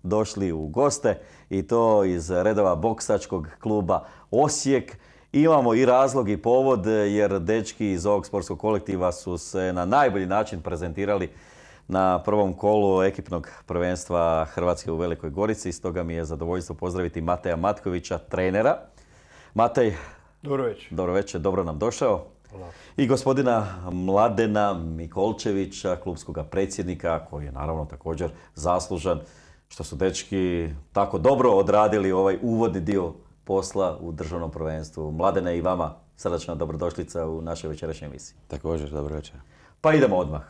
došli u goste i to iz redova boksačkog kluba Osijek. Imamo i razlog i povod jer dečki iz ovog sportskog kolektiva su se na najbolji način prezentirali na prvom kolu ekipnog prvenstva Hrvatske u Velikoj Gorici. Stoga mi je zadovoljstvo pozdraviti Mateja Matkovića, trenera. Matej, dobro večer, dobro nam došao. Hvala. I gospodina Mladena Mikolčevića, klubskog predsjednika, koji je naravno također zaslužan što su dečki tako dobro odradili ovaj uvodni dio posla u državnom prvenstvu. Mladene, i vama srdačna dobrodošlica u našoj večerašnjoj emisiji. Također, dobro večer. Pa idemo odmah,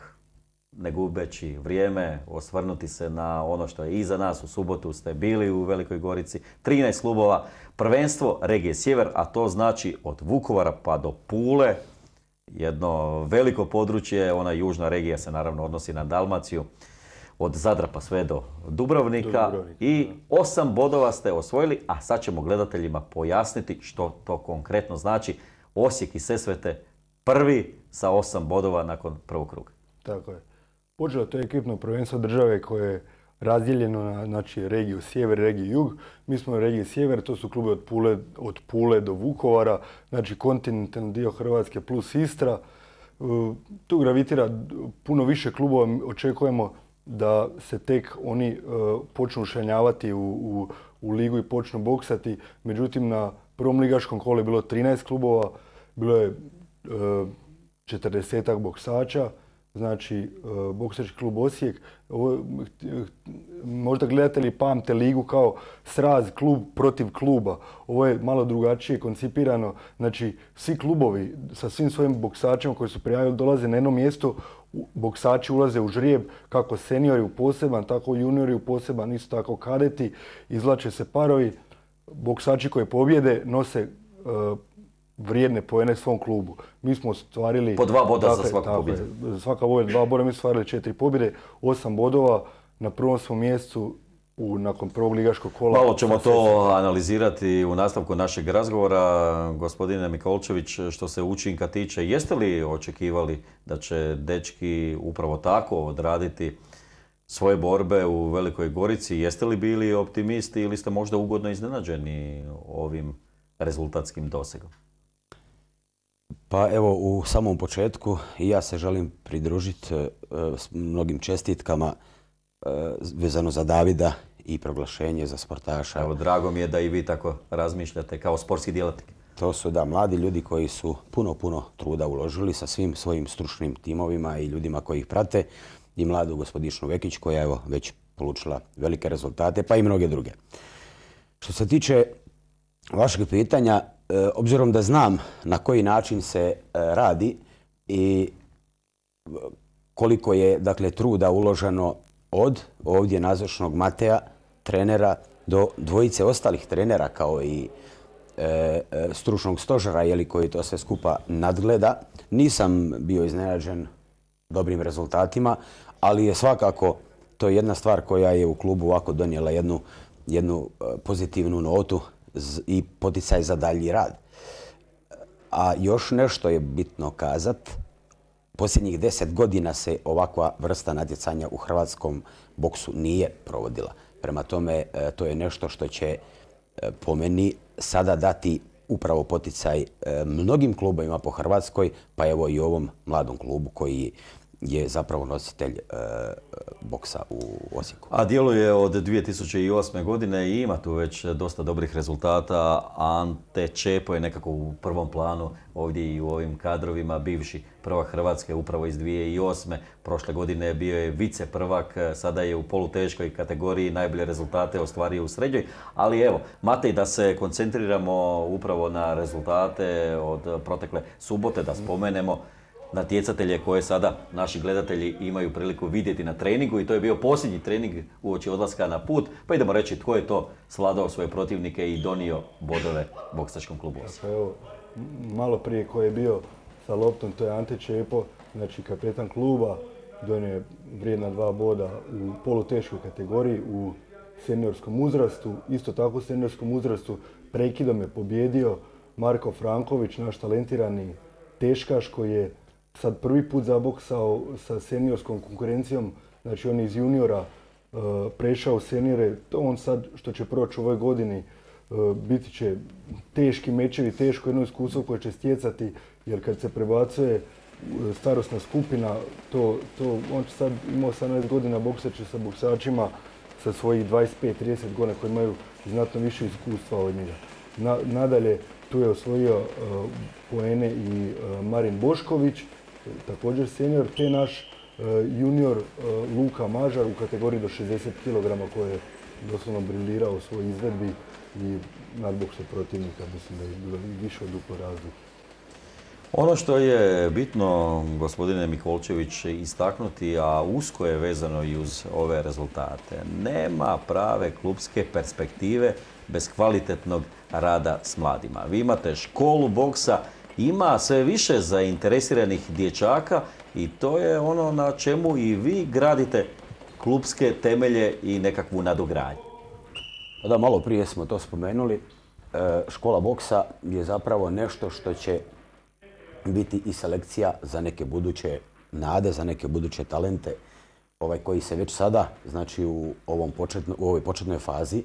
ne gubeći vrijeme, osvrnuti se na ono što je iza nas. U subotu ste bili u Velikoj Gorici, 13 klubova, prvenstvo regije Sjever, a to znači od Vukovara pa do Pule. Jedno veliko područje, ona južna regija se naravno odnosi na Dalmaciju, od Zadra pa sve do Dubrovnika. I 8 bodova ste osvojili, a sad ćemo gledateljima pojasniti što to konkretno znači. Osijek i Sesvete prvi sa 8 bodova nakon prvog kruga. Tako je. Počelo to je ekipno prvenstvo države koje je razdijeljeno na regiju Sjever i regiju Jug. Mi smo u regiji Sjever, to su klubi od Pule do Vukovara, znači kontinentalni dio Hrvatske plus Istra. Tu gravitira puno više klubova, očekujemo da se tek oni počnu ušanjavati u ligu i počnu boksati. Međutim, na prvom ligaškom kolu je bilo 13 klubova, bilo je 40-ak boksača, znači boksački klub Osijek. Možda gledatelji pamte ligu kao sraz klub protiv kluba. Ovo je malo drugačije koncipirano. Znači, svi klubovi sa svim svojim boksačima koji su prijavili dolaze na jedno mjesto. Boksači ulaze u žrijeb, kako seniori u poseban, tako juniori u poseban, isto tako kadeti. Izvlače se parovi. Boksači koji pobjede nose vrijedne poene svom klubu. Mi smo ostvarili... Po 2 boda za svaku pobjedu. Svaka pobjeda 2 boda, mi smo ostvarili 4 pobjede, 8 bodova. Na prvom smo mjestu nakon prvog ligaškog kola. Malo ćemo to analizirati u nastavku našeg razgovora. Gospodine Mikolčević, što se učinka tiče, jeste li očekivali da će dečki upravo tako odraditi svoje borbe u Velikoj Gorici? Jeste li bili optimisti ili ste možda ugodno iznenađeni ovim rezultatskim dosegom? Pa evo, u samom početku i ja se želim pridružiti s mnogim čestitkama vezano za Davida i proglašenje za sportaša. Evo, drago mi je da i vi tako razmišljate kao sportski djelatnik. To su mladi ljudi koji su puno truda uložili sa svim svojim stručnim timovima i ljudima koji ih prate i mladu gospodičnu Vekić koja je već polučila velike rezultate, pa i mnoge druge. Što se tiče vašeg pitanja, obzirom da znam na koji način se radi i koliko je truda uloženo od ovdje nazočnog Mateja, trenera, do dvojice ostalih trenera kao i stručnog stožera koji to sve skupa nadgleda, nisam bio iznenađen dobrim rezultatima, ali je svakako to jedna stvar koja je u klubu ovako donijela jednu pozitivnu notu i poticaj za dalji rad. A još nešto je bitno kazat. Posljednjih 10 godina se ovakva vrsta natjecanja u hrvatskom boksu nije provodila. Prema tome, to je nešto što će po meni sada dati upravo poticaj mnogim klubovima po Hrvatskoj, pa evo i ovom mladom klubu koji je zapravo nositelj boksa u Osijeku. A djeluje od 2008. godine i ima tu već dosta dobrih rezultata. Ante Čepo je nekako u prvom planu ovdje i u ovim kadrovima, bivši prvak Hrvatske upravo iz 2008. Prošle godine bio je vice prvak, sada je u poluteškoj kategoriji, najbolje rezultate ostvario u srednjoj. Ali evo, Matej, da se koncentriramo upravo na rezultate od protekle subote, da spomenemo natjecatelje koje sada naši gledatelji imaju priliku vidjeti na treningu i to je bio posljednji trening uoči odlaska na put. Pa idemo reći tko je to svladao svoje protivnike i donio bodove boksačkom klubu Osijek. Evo, malo prije ko je bio sa loptom, to je Ante Čepo, znači kapetan kluba, donio je vrijedna 2 boda u poluteškoj kategoriji u seniorskom uzrastu. Isto tako u seniorskom uzrastu prekidom je pobjedio Marko Franković, naš talentirani teškaš koji je sad prvi put zaboksao sa seniorskom konkurencijom, znači on iz juniora prešao u senijere. On sad što će proći u ovoj godini biti će teški mečevi, teško jedno iskustvo koje će stjecati, jer kad se prebacuje starosna skupina, on će sad imao 18 godina, bokseće sa boksačima sa svojih 25-30 godina koji imaju znatno više iskustva od njega. Nadalje, tu je osvojio poene i Marin Bošković, također senior, te naš junior Luka Mažar u kategoriji do 60 kg koji je doslovno briljirao u svojoj izvedbi i nadboksu protivnika, mislim da je bilo više od duplo razlike. Ono što je bitno, gospodine Mikolčević, istaknuti, a usko je vezano i uz ove rezultate, nema prave klubske perspektive bez kvalitetnog rada s mladima. Vi imate školu boksa, ima sve više zainteresiranih dječaka i to je ono na čemu i vi gradite klubske temelje i nekakvu nadogradnju. Da, malo prije smo to spomenuli. Škola boksa je zapravo nešto što će biti i selekcija za neke buduće nade, za neke buduće talente koji se već sada, znači u ovoj početnoj fazi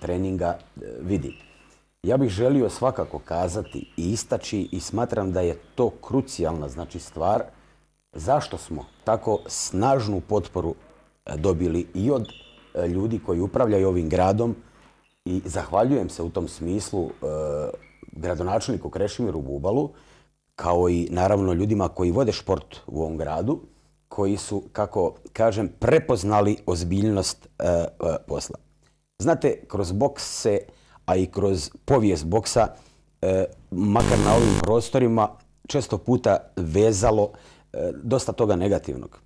treninga vidi. Ja bih želio svakako kazati i istaći i smatram da je to krucijalna stvar zašto smo tako snažnu potporu dobili i od ljudi koji upravljaju ovim gradom i zahvaljujem se u tom smislu gradonačelniku Krešimiru Bubalu, kao i naravno ljudima koji vode šport u ovom gradu, koji su, kako kažem, prepoznali ozbiljnost posla. Znate, kroz boks se, a i kroz povijest boksa, makar na ovim prostorima, često puta vezalo dosta toga negativnog.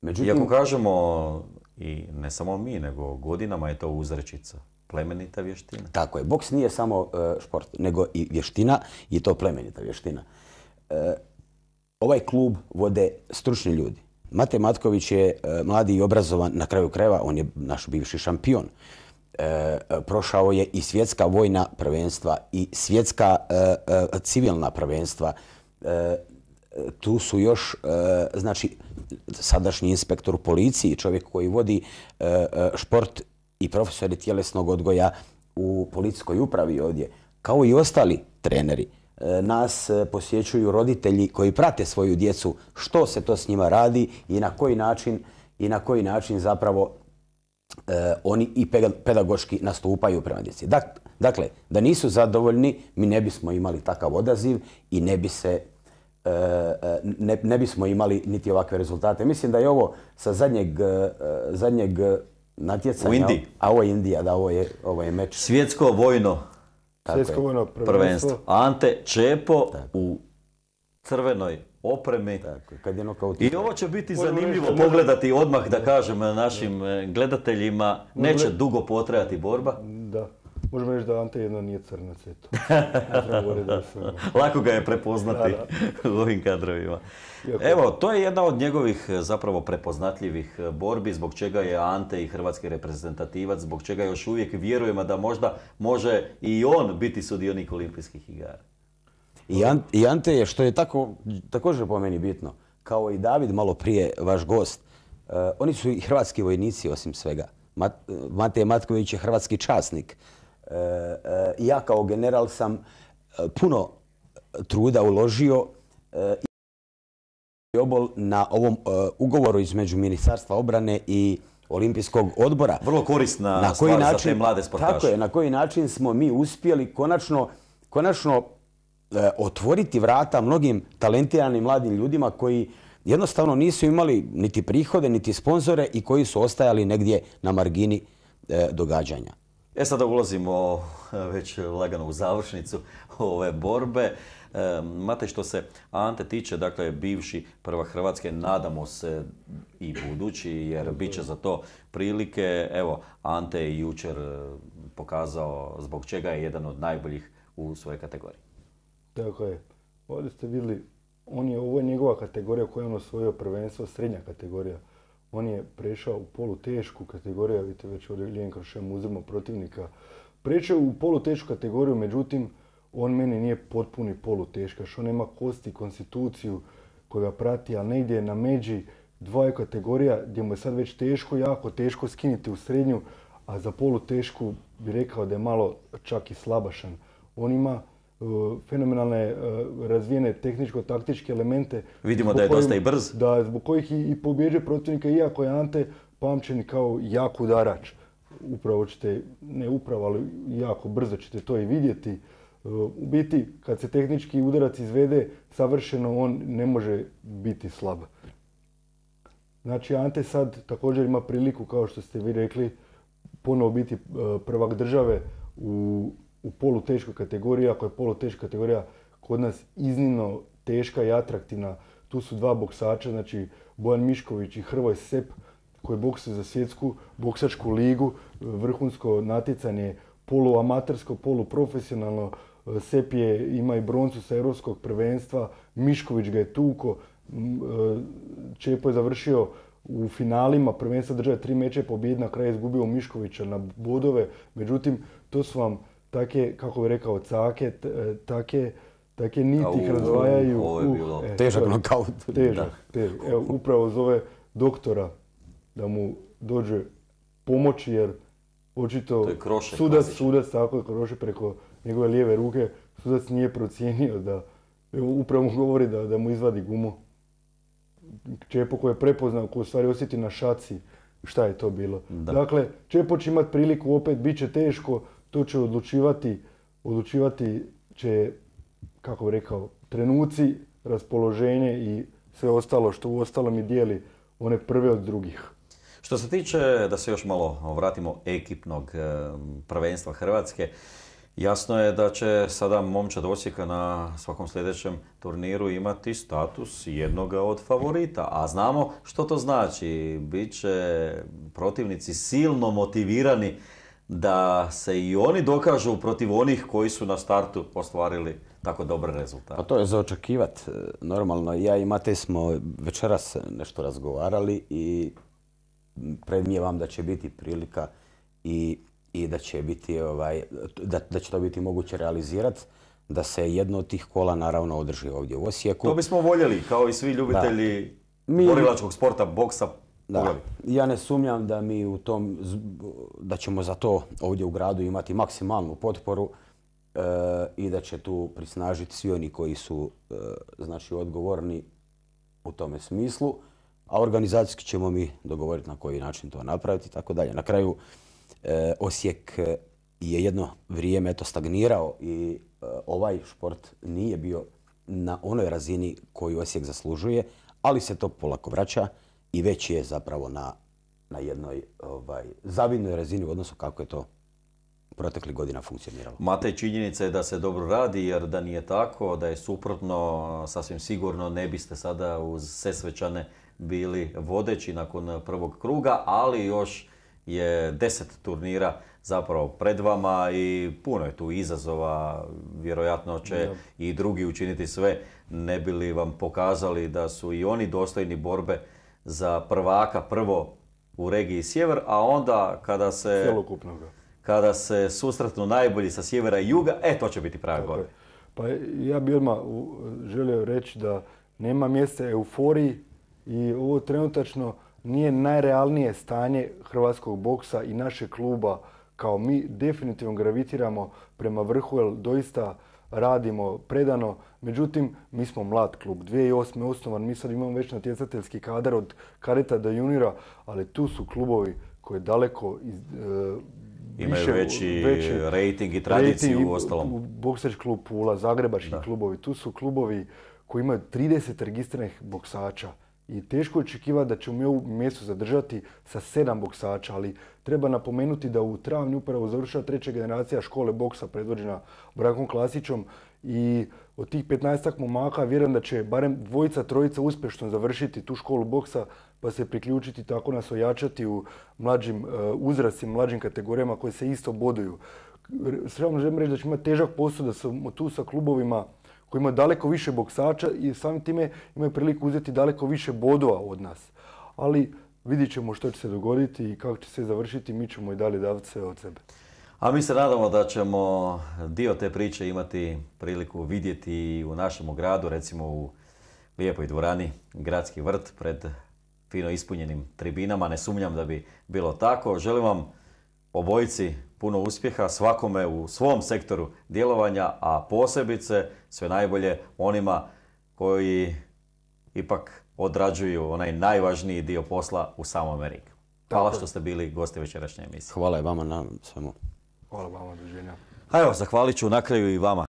Međutim, iako kažemo, i ne samo mi, nego godinama je to uzrečica, plemenita vještina. Tako je, boks nije samo šport, nego i vještina i to plemenita vještina. Ovaj klub vode stručni ljudi. Mate Matković je mladi i obrazovan, na kraju krajeva, on je naš bivši šampion. Prošao je i svjetska vojna prvenstva i svjetska civilna prvenstva. Tu su još, znači, sadašnji inspektor u policiji, čovjek koji vodi šport i profesori tjelesnog odgoja u policijskoj upravi ovdje, kao i ostali treneri. Nas posjećuju roditelji koji prate svoju djecu, što se to s njima radi i na koji način zapravo oni i pedagoški nastupaju prema djeci. Dakle, da nisu zadovoljni, mi ne bismo imali takav odaziv i ne bismo imali niti ovakve rezultate. Mislim da je ovo sa zadnjeg natjecanja, u Indiji. A ovo je Indija, da, ovo je meč. Svjetsko vojno prvenstvo. Ante Čepo u crvenoj opremi. I ovo će biti zanimljivo pogledati odmah, da kažem našim gledateljima. Neće dugo potrajati borba. Da. Možemo reći da Ante jedno nije crnac, eto. Lako ga je prepoznati u ovim kadrovima. Evo, to je jedna od njegovih zapravo prepoznatljivih borbi, zbog čega je Ante i hrvatski reprezentativac, zbog čega još uvijek vjerujemo da možda može i on biti sudionik olimpijskih igara. I Ante je, što je također po meni bitno, kao i David malo prije, vaš gost, oni su i hrvatski vojnici osim svega. Mate Matković je hrvatski časnik. Ja kao general sam puno truda uložio i obol na ovom ugovoru između Ministarstva obrane i Olimpijskog odbora. Vrlo korisna stvar za te mlade sportaše. Tako je, na koji način smo mi uspjeli konačno otvoriti vrata mnogim talentiranim mladim ljudima koji jednostavno nisu imali niti prihode, niti sponzore i koji su ostajali negdje na margini događanja. Sada ulazimo već lagano u završnicu ove borbe. Mate, što se Ante tiče, dakle, bivši prvak Hrvatske, nadamo se i budući, jer bit će za to prilike. Evo, Ante je jučer pokazao zbog čega je jedan od najboljih u svojoj kategoriji. Tako je. Ovdje ste vidjeli, ovo je njegova kategorija koju je on osvojio prvenstvo, srednja kategorija. On je prešao u polutešku kategoriju, vidite već ovdje Ljenko Šem uzimo protivnika. Prešao u polutešku kategoriju, međutim, on meni nije potpuni poluteškaš. On nema kosti, konstituciju koja ga prati, ali negdje na međi dvaju kategorija gdje mu je sad već teško, jako teško skiniti u srednju, a za polutešku bi rekao da je malo čak i slabašan. On ima fenomenalne razvijene tehničko-taktičke elemente. Vidimo da je dosta i brz. Da, zbog kojih i pobjeđuje protivnika, iako je Ante pamćen kao jak udarač. Upravo ćete, ne upravo, ali jako brzo ćete to i vidjeti. U biti, kad se tehnički udarac izvede savršeno, on ne može biti slab. Znači, Ante sad također ima priliku, kao što ste vi rekli, ponovo biti prvak države u poluteškoj kategoriji, ako je poluteška kategorija kod nas iznimno teška i atraktivna. Tu su dva boksača, znači Bojan Mišković i Hrvoje Sep, koji boksuju za svjetsku boksačku ligu, vrhunsko natjecanje, poluamatersko, poluprofesionalno. Sep ima i broncu sa europskog prvenstva, Mišković ga je tuko, Čepo je završio u finalima prvenstva države 3 meča je pobjed, na kraju izgubio Miškovića na bodove. Međutim, to su vam take, kako bi rekao, cake, take niti ih razdvajaju. Ovo je bilo težak nokaut. Težak. Evo, upravo zove doktora da mu dođe pomoći, jer očito sudac tako je Kroše preko njegove lijeve ruke, sudac nije procijenio da, upravo mu govori da mu izvadi gumu. Čepo koji je prepoznao, koji u stvari osjeti na šaci šta je to bilo. Da. Dakle, Čepo će imati priliku, opet bit će teško, to će odlučivati će, kako bi rekao, trenuci, raspoloženje i sve ostalo što u ostalom i dijeli one prve od drugih. Što se tiče, da se još malo vratimo, ekipnog prvenstva Hrvatske, jasno je da će sada momčad Osijeka na svakom sljedećem turniru imati status jednoga od favorita. A znamo što to znači. Biće protivnici silno motivirani da se i oni dokažu protiv onih koji su na startu ostvarili tako dobre rezultate. Pa to je za očekivati. Normalno, ja i Matej smo večeras nešto razgovarali i predmnijevam da će biti prilika i da će biti da će to biti moguće realizirati, da se jedno od tih kola naravno održi ovdje u Osijeku. To bismo voljeli, kao i svi ljubitelji borilačkog sporta, boksa. Da. Ja ne sumnjam da mi da ćemo za to ovdje u gradu imati maksimalnu potporu i da će tu prisnažiti svi oni koji su znači odgovorni u tome smislu, a organizacijski ćemo mi dogovoriti na koji način to napraviti i tako dalje. Na kraju Osijek je jedno vrijeme stagnirao i ovaj šport nije bio na onoj razini koju Osijek zaslužuje, ali se to polako vraća i već je zapravo na jednoj zavidnoj razini u odnosu kako je to proteklih godina funkcioniralo. Matej, činjenica je da se dobro radi, jer da nije tako, da je suprotno, sasvim sigurno ne biste sada uz Sesvečane bili vodeći nakon prvog kruga, ali još je 10 turnira zapravo pred vama i puno je tu izazova. Vjerojatno će i drugi učiniti sve, ne bi li vam pokazali da su i oni dostojni borbe za prvaka, prvo u regiji Sjever, a onda kada se susretnu najbolji sa sjevera i juga, to će biti pravi borbe. Pa ja bih odmah želio reći da nema mjesta euforiji i ovo trenutačno nije najrealnije stanje hrvatskog boksa i našeg kluba. Kao mi definitivno gravitiramo prema vrhu, jer doista radimo predano. Međutim, mi smo mlad klub. 2008. osnovan, mi sad imamo već natjecateljski kadar od kadeta do juniora, ali tu su klubovi koji daleko imaju veći rating i tradiciju u ostalom. Boksački klub Pula, zagrebački klubovi, tu su klubovi koji imaju 30 registriranih boksača. I teško je očekivati da ćemo mi ovu mjesto zadržati sa 7 boksača, ali treba napomenuti da u travnju upravo završava 3. generacija škole boksa predvođena Brankom Klasićom i od tih 15 momaka vjerujem da će barem 2-3 uspješno završiti tu školu boksa pa se priključiti, tako nas ojačati u mlađim uzrastima, mlađim kategorijama koje se isto boduju. Sredno želim reći da ćemo imati težak posao da smo tu sa klubovima koji imaju daleko više boksača i samim time imaju priliku uzeti daleko više bodova od nas. Ali vidit ćemo što će se dogoditi i kako će se završiti, mi ćemo i dalje davati sve od sebe. A mi se nadamo da ćemo dio te priče imati priliku vidjeti u našem gradu, recimo u lijepoj dvorani Gradski vrt pred fino ispunjenim tribinama. Ne sumnjam da bi bilo tako. Želim vam obojici puno uspjeha, svakome u svom sektoru djelovanja, a posebice sve najbolje onima koji ipak odrađuju onaj najvažniji dio posla u samom ringu. Hvala što ste bili gosti večerašnje emisije. Hvala i vama na svemu. Hvala vama, doviđenja. A evo, zahvalit ću na kraju i vama